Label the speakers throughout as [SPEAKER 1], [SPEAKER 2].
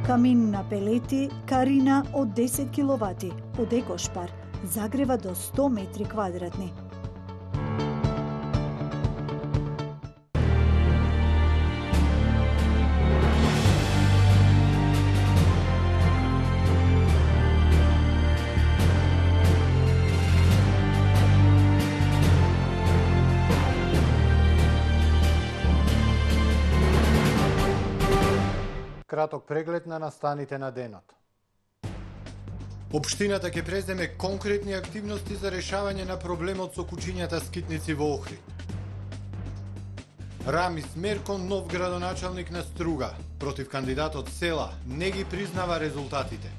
[SPEAKER 1] Камин на пелети, карина од 10 киловати, од Екошпар, загрева до 100 метри квадратни.
[SPEAKER 2] Краток преглед на настаните на денот. Општината ќе преземе конкретни активности за решавање на проблемот со кучињата скитници во Охрид. Рамис Меркон, нов градоначалник на Струга, против кандидатот Села, не ги признава резултатите.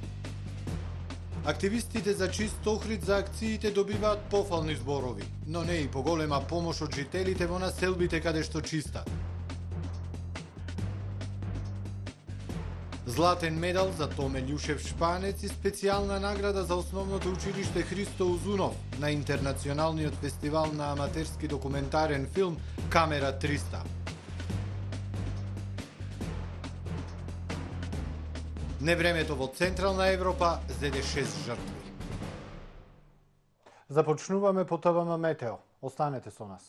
[SPEAKER 2] Активистите за чист Охрид за акциите добиваат пофални зборови, но не и поголема помош од жителите во населбите каде што чистат. Златен медал за Томе Љушев Шпанец и специјална награда за основното училиште Христо Узунов на Интернационалниот фестивал на аматерски документарен филм Камера 300. Невремето во Централна Европа зеде 6 жртви. Започнуваме по ТВМ Метео. Останете со нас.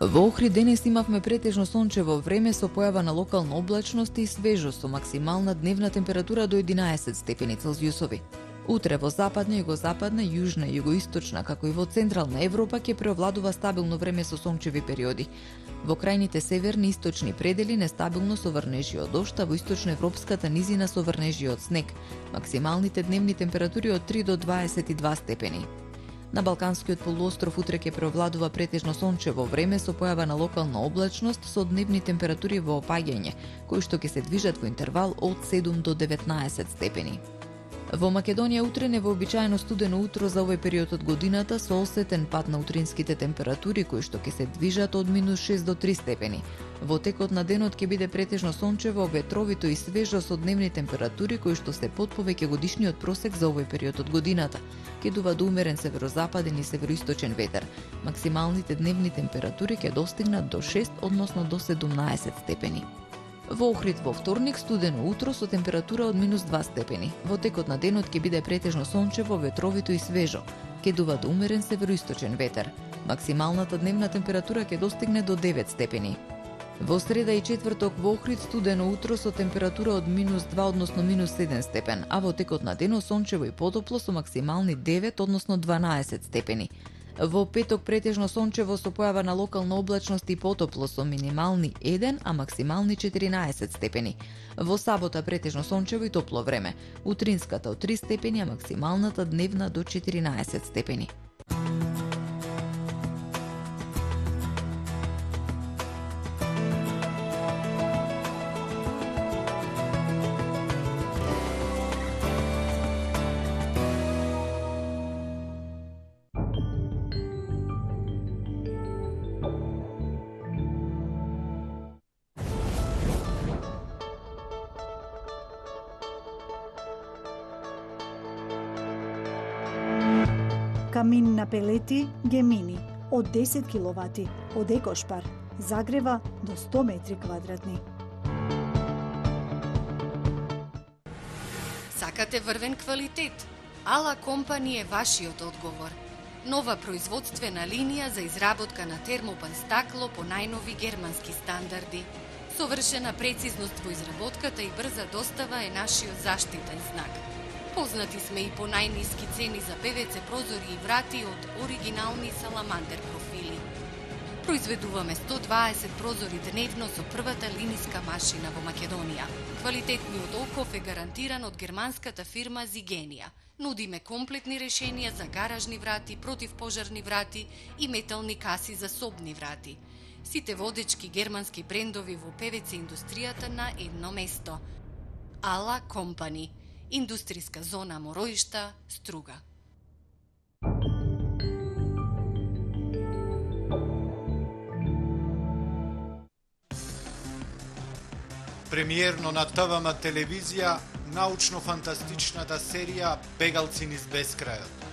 [SPEAKER 3] Во Охрид денес имавме претежно сончево време со појава на локална облачност и свежо со максимална дневна температура до 11 степени Целзиусови. Утре во западна, југозападна, јужна и југоисточна, како и во Централна Европа ќе преовладува стабилно време со сончеви периоди. Во крајните северни и источни предели нестабилно со врнежи од дожд, а во источноевропската низина со врнежи од снег. Максималните дневни температури од 3 до 22 степени. На Балканскиот полуостров утре ќе преовладува претежно сончево време со појава на локална облачност со дневни температури во опаѓање, кои што ќе се движат во интервал од 7 до 19 степени. Во Македонија утре невообичаено студено утро за овој период од годината со осетен пад на утринските температури кои што ќе се движат од -6 до 3 степени. Во текот на денот ќе биде претежно сончево, ветровито и свежо со дневни температури кои што се под повеќе годишниот просек за овој период од годината. Ќе дува до умерен северозападен и североисточен ветер. Максималните дневни температури ќе достигнат до 6, односно до 17 степени. Во Охрид во вторник студено утро со температура од -2 степени. Во текот на денот ќе биде претежно сончево, ветровито и свежо. Ќе дува до умерен североисточен ветер. Максималната дневна температура ќе достигне до 9 степени. Во среда и четврток во Охрид студено утро со температура од -2, односно -7 степен, а во текот на денот сончево и потопло со максимални 9, односно 12 степени. Во петок претежно сончево со појава на локална облачност и потопло со минимални 1, а максимални 14 степени. Во сабота претежно сончево и топло време. Утринската од 3 степени, а максималната дневна до 14 степени.
[SPEAKER 1] Камин на пелети, Гемини, од 10 киловати, од Екошпар, загрева до 100 метри квадратни.
[SPEAKER 4] Сакате врвен квалитет? Ала Компани е вашиот одговор. Нова производствена линија за изработка на термопан стакло по најнови германски стандарди. Совршена прецизност во изработката и брза достава е нашиот заштитен знак. Познати сме и по најниски цени за ПВЦ прозори и врати од оригинални саламандер профили. Произведуваме 120 прозори дневно со првата линиска машина во Македонија. Квалитетниот оков е гарантиран од германската фирма Зигенија. Нудиме комплетни решенија за гаражни врати, противпожарни врати и метални каси за собни врати. Сите водечки германски брендови во ПВЦ индустријата на едно место. Ала Компани. Индустријска зона Мороишта, Струга.
[SPEAKER 2] Премиерно на ТВМ телевизија научно-фантастичната серија Бегалци низ бескрајот.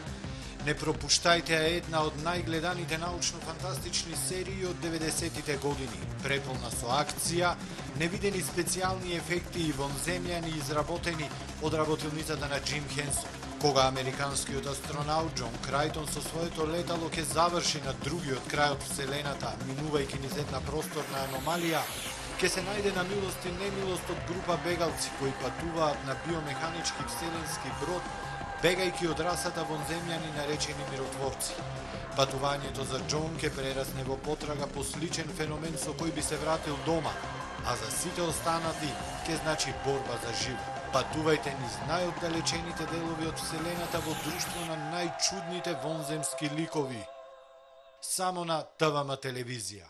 [SPEAKER 2] Не пропуштајте една од најгледаните научно-фантастични серии од 90-тите години, преполна со акција, невидени специјални ефекти и вонземјани изработени од работилницата на Джим Хенсон. Кога американскиот астронаут Џон Крајтон со своето летало ќе заврши на другиот крај од Вселената, минувајќи низ една просторна аномалија, ќе се најде на милост и немилост од група бегалци кои патуваат на биомеханички вселенски брод, бегајќи од расата вонземјани наречени миротворци. Патувањето за Џон ќе прерасне во потрага по сличен феномен со кој би се вратил дома, а за сите останати ќе значи борба за живот. Патувајте низ најоддалечените делови од Вселената во друштво на најчудните вонземски ликови. Само на ТВМ телевизија.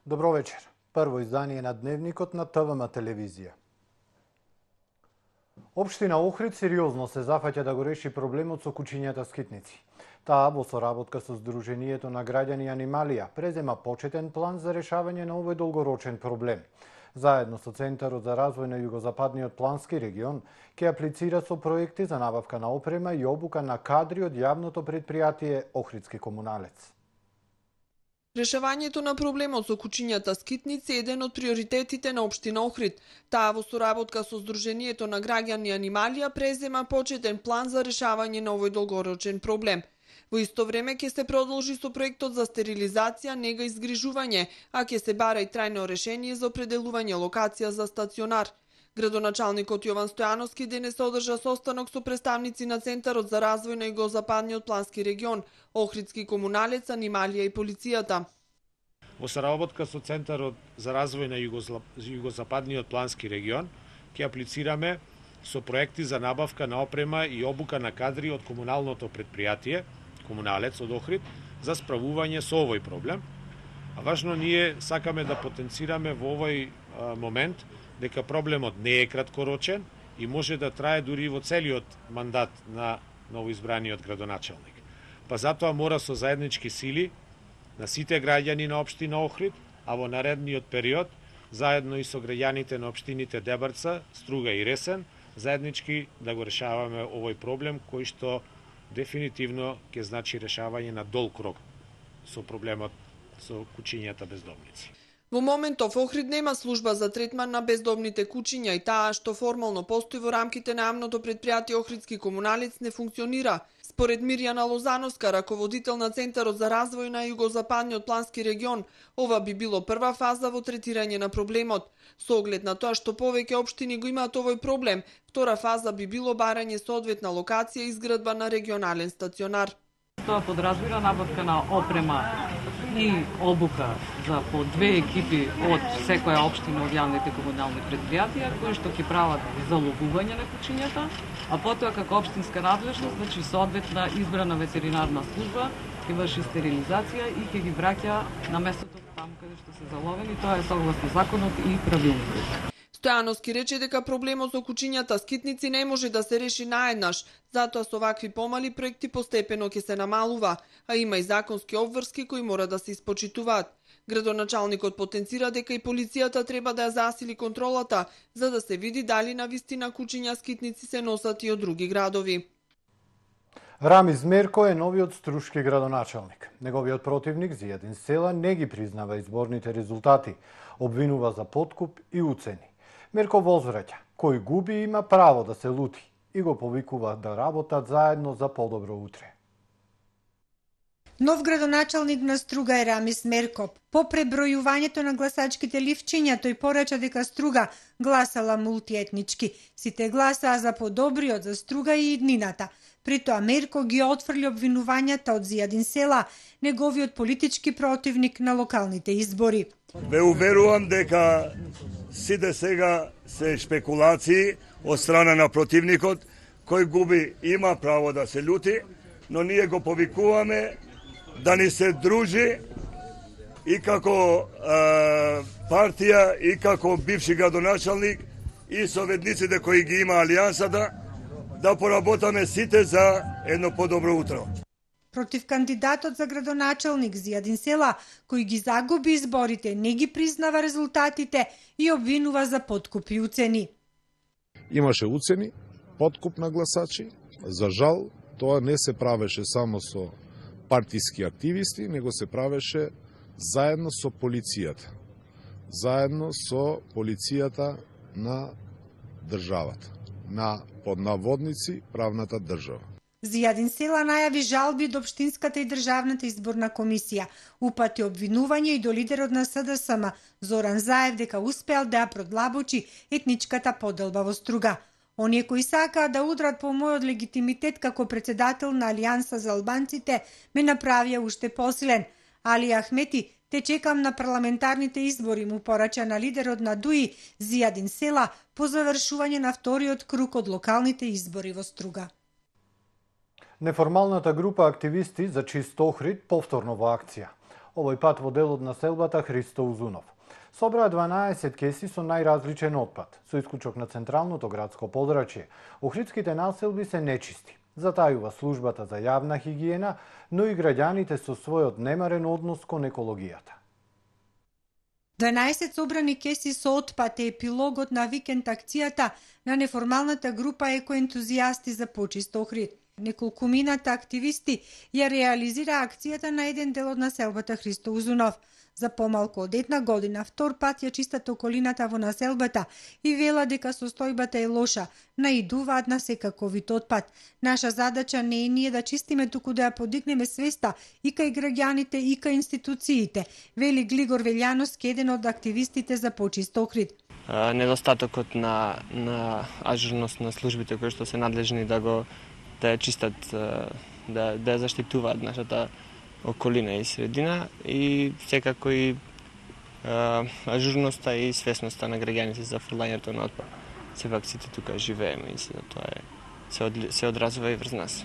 [SPEAKER 2] Добро вечер. Прво издание на Дневникот на ТВМ телевизија. Општина Охрид сериозно се зафаќа да го реши проблемот со кучињата скитници. Таа во соработка со Сдруженијето на граѓани Анималија презема почетен план за решавање на овој долгорочен проблем. Заедно со Центарот за развој на Југозападниот плански регион ќе аплицира со проекти за набавка на опрема и обука на кадри од јавното претпријатие Охридски комуналец.
[SPEAKER 5] Решавањето на проблемот со кучињата скитници е еден од приоритетите на општина Охрид. Таа во соработка со Сдруженијето на граѓани Анималија презема почетен план за решавање на овој долгорочен проблем. Во исто време ќе се продолжи со проектот за стерилизација, нега и згрижување, а ќе се бара и трајно решение за определување локација за стационар. Градоначалникот Јован Стојановски денес одржа состанок со представници на Центарот за развој на Југозападниот плански регион, Охридски комуналец, Анималија и полицијата.
[SPEAKER 6] Во соработка со Центарот за развој на Југозападниот плански регион ќе аплицираме со проекти за набавка на опрема и обука на кадри од комуналното претпријатие, комуналец од Охрид, за справување со овој проблем. А важно ние сакаме да потенцираме во овој момент дека проблемот не е краткорочен и може да трае дури во целиот мандат на новоизбраниот градоначалник. Па затоа мора со заеднички сили на сите граѓани на општина Охрид, а во наредниот период, заедно и со граѓаните на општините Дебарца, Струга и Ресен, заеднички да го решаваме овој проблем кој што дефинитивно ќе значи решавање на долг рок со проблемот со кучињата бездомници.
[SPEAKER 5] Во моментов Охрид нема служба за третман на бездомните кучиња и таа што формално постои во рамките на јавното претпријатие Охридски комуналец не функционира. Според Мирјана Лозановска, раководител на Центарот за развој на Југозападниот плански регион, ова би било прва фаза во третирање на проблемот. Со оглед на тоа што повеќе општини го имаат овој проблем, втора фаза би било барање соодветна локација и изградба на регионален стационар.
[SPEAKER 7] Тоа подразбира набавка на опрема и обука за по 2 екипи од секоја општина од јавните комунални претпријатија кои што ќе прават заловување на кучињата, а потоа како општинска надлежност, значи соодветна избрана ветеринарна служба ќе врши стерилизација и ќе ги враќа на местото таму каде што се заловени, тоа е согласно законот и правилникот.
[SPEAKER 5] Стојановски рече дека проблемот со кучињата скитници не може да се реши наеднаш, затоа со вакви помали проекти постепено ќе се намалува, а има и законски обврски кои мора да се испочитуваат. Градоначалникот потенцира дека и полицијата треба да ја засили контролата, за да се види дали на вистина кучиња скитници се носат и од други градови.
[SPEAKER 2] Рамиз Мерко е новиот струшки градоначалник. Неговиот противник Зијадин Села не ги признава изборните резултати, обвинува за подкуп и уцени. Мерко возвраќа, кој губи има право да се лути и го повикува да работат заедно за подобро утре.
[SPEAKER 8] Нов градоначалник на Струга е Рамис Меркоп. По пребројувањето на гласачките ливчиња, тој порача дека Струга гласала мултиетнички. Сите гласаа за подобриот за Струга и иднината. При тоа Мерко ги отфрли обвинувањата од Зијадин Села, неговиот политички противник на локалните избори.
[SPEAKER 9] Ве уверувам дека сите сега се шпекулации од страна на противникот, кој губи има право да се љути, но ние го повикуваме да ни се дружи и како партија, и како бивши градоначалник, и советниците кои ги има алијансата, да поработаме сите за едно подобро утро.
[SPEAKER 8] Против кандидатот за градоначалник Зијадин Села, кој ги загуби изборите, не ги признава резултатите и обвинува за подкуп и уцени.
[SPEAKER 10] Имаше уцени, подкуп на гласачи. За жал, тоа не се правеше само со партиски активисти, него се правеше заедно со полицијата. Заедно со полицијата на државата, на поднаводници правната држава.
[SPEAKER 8] Зијадин Села најави жалби до Општинската и Државната изборна комисија. Упати обвинување и до лидерот на СДСМ Зоран Заев дека успеал да ја продлабочи етничката поделба во Струга. Оние кои сакаат да удрат по мојот легитимитет како председател на Алијанса за албанците ме направија уште посилен. Али Ахмети, те чекам на парламентарните избори, му порача на лидерот на ДУИ Зијадин Села по завршување на вториот круг од локалните избори во Струга.
[SPEAKER 11] Неформалната група активисти за чист Охрид повторно во акција. Овој пат во дел од населбата Христо Узунов. Собраа 12 кеси со најразличен отпад, со исклучок на централното градско подрачје. Охридските населби се нечисти. Затајува службата за јавна хигиена, но и граѓаните со својот немарен однос кон екологијата.
[SPEAKER 8] 12 собрани кеси со отпад е епилогот на викенд акцијата на неформалната група екоентузијасти за почист Охрид. Неколкумината активисти ја реализира акцијата на еден дел од населбата Христо Узунов. За помалку од една година, втор пат ја чистат околината во населбата и вела дека состојбата е лоша, наидуваат на секаков вид отпад. Наша задача не е ние да чистиме, туку да ја подигнеме свеста и кај граѓаните и кај институциите, вели Глигор Велјановски, еден од активистите за почист Охрид.
[SPEAKER 12] Недостатокот на ажурност на службите кои што се надлежни да ја чистат, да ја заштитуваат нашата околина и средина, и секако и ажурноста и свесноста на граѓаните за фрлањето на отпад. Сепак сите тука живееме и тоа се одразува и врз нас.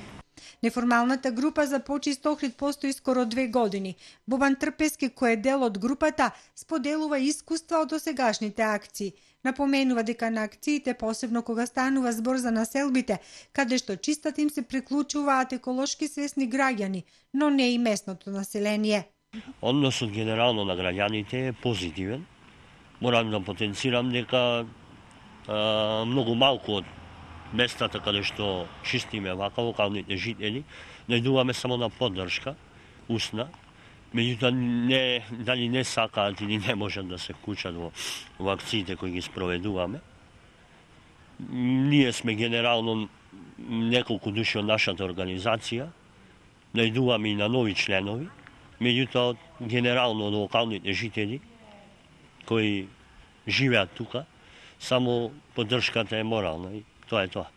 [SPEAKER 8] Неформалната група за почист Охрид постои скоро 2 години. Бобан Трпески, кој е дел од групата, споделува искуства од досегашните акции. Напоменува дека на акциите, посебно кога станува збор за населбите, каде што чистат им се приклучуваат еколошки свесни граѓани, но не и местното население.
[SPEAKER 13] Односот генерално на граѓаните е позитивен. Морам да потенцирам дека многу малку од местата каде што чистиме вака локалните жители, најдуваме само на поддршка, усна, меѓутоа дали не сакаат или не можат да се вклучат во акциите кои ги спроведуваме. Ние сме генерално неколку души од нашата организација, најдуваме и на нови членови, меѓутоа генерално од локалните жители кои живеат тука, само поддршката е морална и тоа е тоа.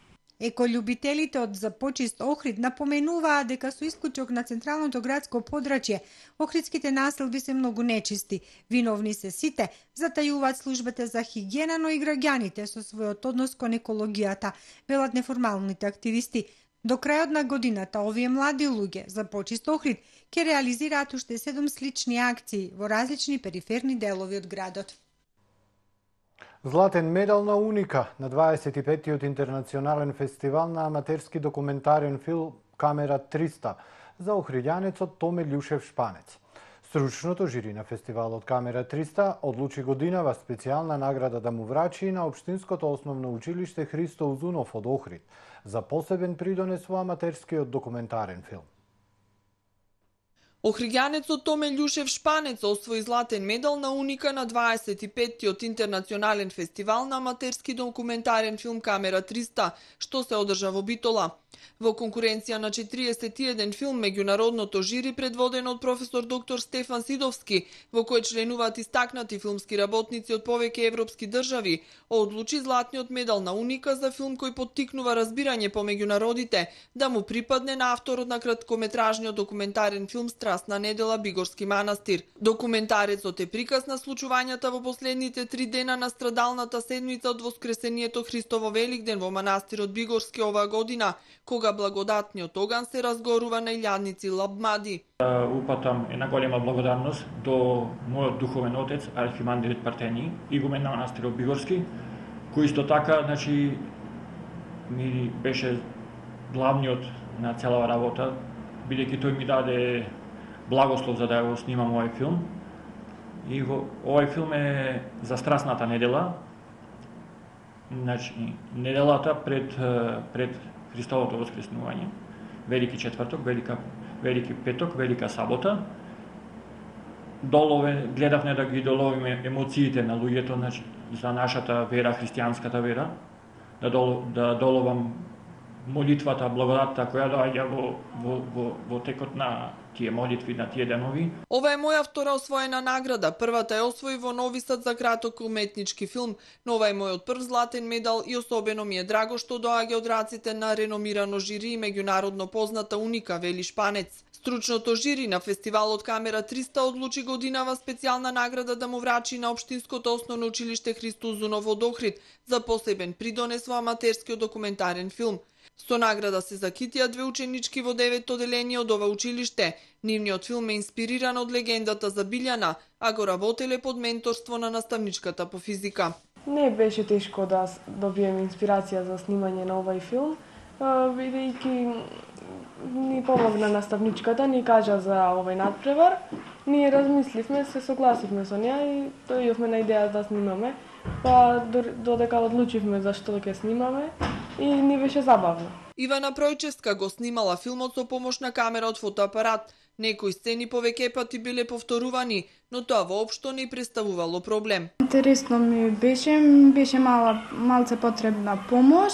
[SPEAKER 8] Еколюбителите од За почист Охрид напоменуваат дека со исклучок на централното градско подрачје, охридските населби се многу нечисти. Виновни се сите, затајуваат службата за хигиена, но и граѓаните со својот однос кон екологијата, велат неформалните активисти. До крајот на годината, овие млади луѓе За почист Охрид ќе реализираат уште 7 слични акции во различни периферни делови од градот.
[SPEAKER 11] Златен медал на Уника на 25-тиот интернационален фестивал на аматерски документарен филм Камера 300 за охриѓанецот Томе Љушев Шпанец. Стручното жири на фестивалот Камера 300 одлучи годинава специјална награда да му врачи на Општинското основно училиште Христо Узунов од Охрид за посебен придонес во аматерскиот документарен филм.
[SPEAKER 5] Охридјанецот Томе Љушев Шпанец освои златен медал на Уника на 25-тиот интернационален фестивал на аматерски документарен филм Камера 300, што се одржа во Битола. Во конкуренција на 41 филм, меѓународното жири предводено од професор доктор Стефан Сидовски, во кој членуваат истакнати филмски работници од повеќе европски држави, одлучи златниот медал на Уника за филм кој поттикнува разбирање помеѓу народите да му припадне на авторот на краткометражниот документарен филм Страстна недела Бигорски манастир. Документарецот е приказ на случувањата во последните 3 дена на страдалната седмица од Воскресението Христово Великден во манастирот Бигорски оваа година, кога благодатниот оган се разгорува на илјадници лабмади.
[SPEAKER 14] Упатам една голема благодарност до мојот духовен отец, архимандрит Партени, игумен на манастирот Бигорски, кој исто така, ми беше главниот на целава работа, бидејќи тој ми даде благослов за да го снимам овој филм. И овој филм е за Страстната недела, неделата пред Христовото воскреснување, Велики четврток, Велики петок, Велика сабота. Гледавме да ги доловиме емоциите на луѓето за нашата вера, христијанската вера, да доловам молитвата, благодатта која доаѓа во текот на тие молитви, на тие денови.
[SPEAKER 5] Ова е моја втора освоена награда. Првата е освои во Нови Сад за краток уметнички филм, но ова е мојот прв златен медал и особено ми е драго што доаѓа од раците на реномирано жири и меѓународно позната Уника, вели Шпанец. Стручното жири на фестивалот Камера 300 одлучи годинава специјална награда да му врачи на Општинското основно училиште Христо Узунов од Охрид за посебен придонес во аматерскиот документарен филм. Со награда се закитија 2 ученички во 9 оделение од ова училиште. Нивниот филм е инспириран од легендата за Билјана, а го работеле под менторство на наставничката по физика.
[SPEAKER 15] Не беше тешко да добием инспирација за снимање на овај филм, бидејќи ни помогна наставничката, ни кажа за овој надпревар. Ние размисливме, се согласивме со неа и дојдовме на идеја да снимаме. Па додека одлучивме за што ќе снимаме и ни беше забавно.
[SPEAKER 5] Ивана Пројчевска го снимала филмот со помош на камера од фотоапарат. Некои сцени повеќе пати биле повторувани, но тоа воопшто не представувало проблем.
[SPEAKER 16] Интересно ми беше малце потребна помош.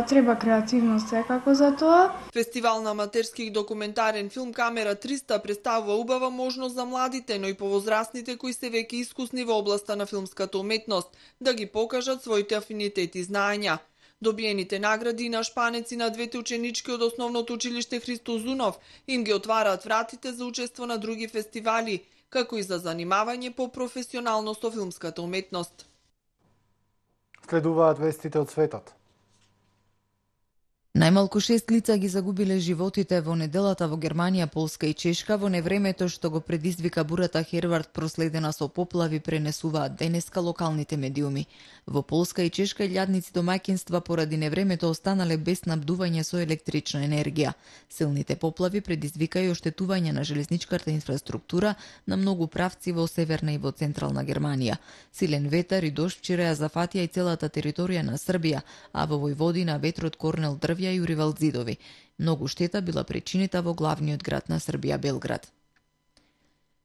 [SPEAKER 16] Треба креативност секако за тоа.
[SPEAKER 5] Фестивал на аматерски документарен филм Камера 300 представува убава можност за младите, но и повозрастните кои се веќе искусни во областа на филмската уметност, да ги покажат своите афинитети и знаења. Добиените награди на Шпанеци на 2 ученички од основното училиште Христо Узунов им ги отвараат вратите за учество на други фестивали, како и за занимавање по професионално со филмската уметност.
[SPEAKER 11] Следуваат вестите од светот.
[SPEAKER 3] Најмалку 6 лица ги загубиле животите во неделата во Германија, Полска и Чешка во невремето што го предизвика бурата Хервард проследена со поплави, пренесуваат денеска локалните медиуми. Во Полска и Чешка илјадници домаќинства поради невремето останале без снабдување со електрична енергија. Силните поплави предизвика и оштетување на железничката инфраструктура на многу правци во северна и во централна Германија. Силен ветар и дожд вчера ја зафатија и целата територија на Србија, а во Војводина ветрот корнел дрвја и уривал зидови. Многу штета била причинита во главниот град на Србија, Белград.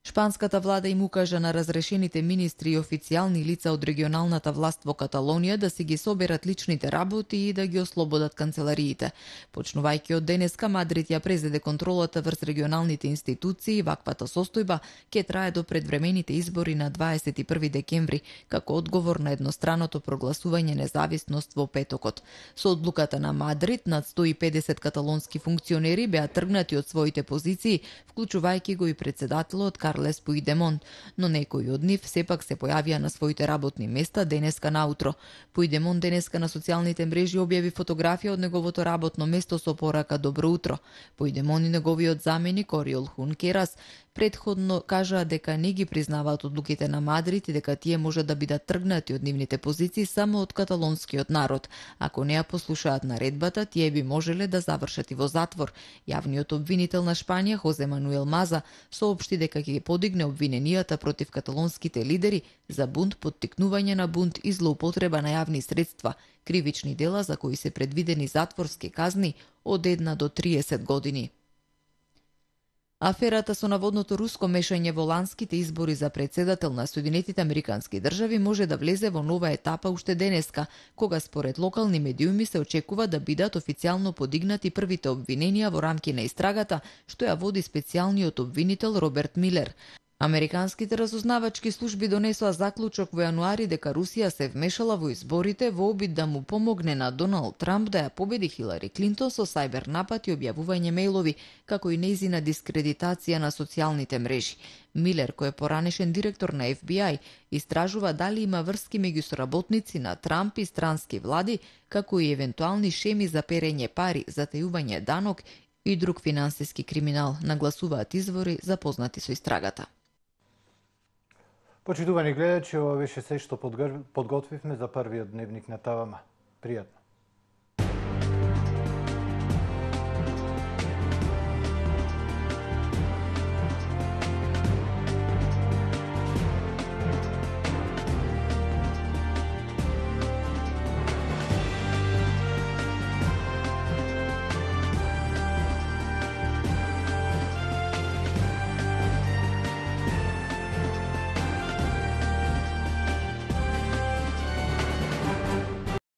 [SPEAKER 3] Шпанската влада им укажа на разрешените министри и официјални лица од регионалната власт во Каталонија да си ги соберат личните работи и да ги ослободат канцелариите. Почнувајќи од денеска, Мадрид ја презеде контролата врз регионалните институции и ваквата состојба ќе трае до предвремените избори на 21 декември, како одговор на едностраното прогласување независност во петокот. Со одлуката на Мадрид, над 150 каталонски функционери беа тргнати од своите позиции, вклучувајќи го и председателот Карлес Пујдемонт, но некои од нив сепак се појавија на своите работни места денеска наутро. Пујдемонт денеска на социјалните мрежи објави фотографија од неговото работно место со порака Добро утро. Пујдемонт и неговиот заменик Ориол Хункерас предходно кажаа дека не ги признаваат одлуките на Мадрид и дека тие може да бидат тргнати од нивните позиции само од каталонскиот народ. Ако не ја послушаат наредбата, тие би можеле да завршат и во затвор. Јавниот обвинител на Шпанија, Хозе Мануел Маза, соопшти дека ќе подигне обвиненијата против каталонските лидери за бунт, поттикнување на бунт и злоупотреба на јавни средства, кривични дела за кои се предвидени затворски казни од 1 до 30 години. Аферата со наводното руско мешање во ланските избори за претседател на Соединетите Американски држави може да влезе во нова етапа уште денеска, кога според локални медиуми се очекува да бидат официјално подигнати првите обвиненија во рамки на истрагата, што ја води специјалниот обвинител Роберт Милер. Американските разузнавачки служби донесоа заклучок во јануари дека Русија се вмешала во изборите во обид да му помогне на Доналд Трамп да ја победи Хилари Клинтон со сајбер напад и објавување мејлови, како и нејзина дискредитација на социјалните мрежи. Милер, кој е поранешен директор на FBI, истражува дали има врски меѓу соработници на Трамп и странски влади, како и евентуални шеми за перење пари, затајување данок и друг финансиски криминал, нагласуваат извори запознати со истрагата.
[SPEAKER 11] Почитувани гледачи, ова беше се што подготвивме за првиот дневник на ТВМ. Пријатно.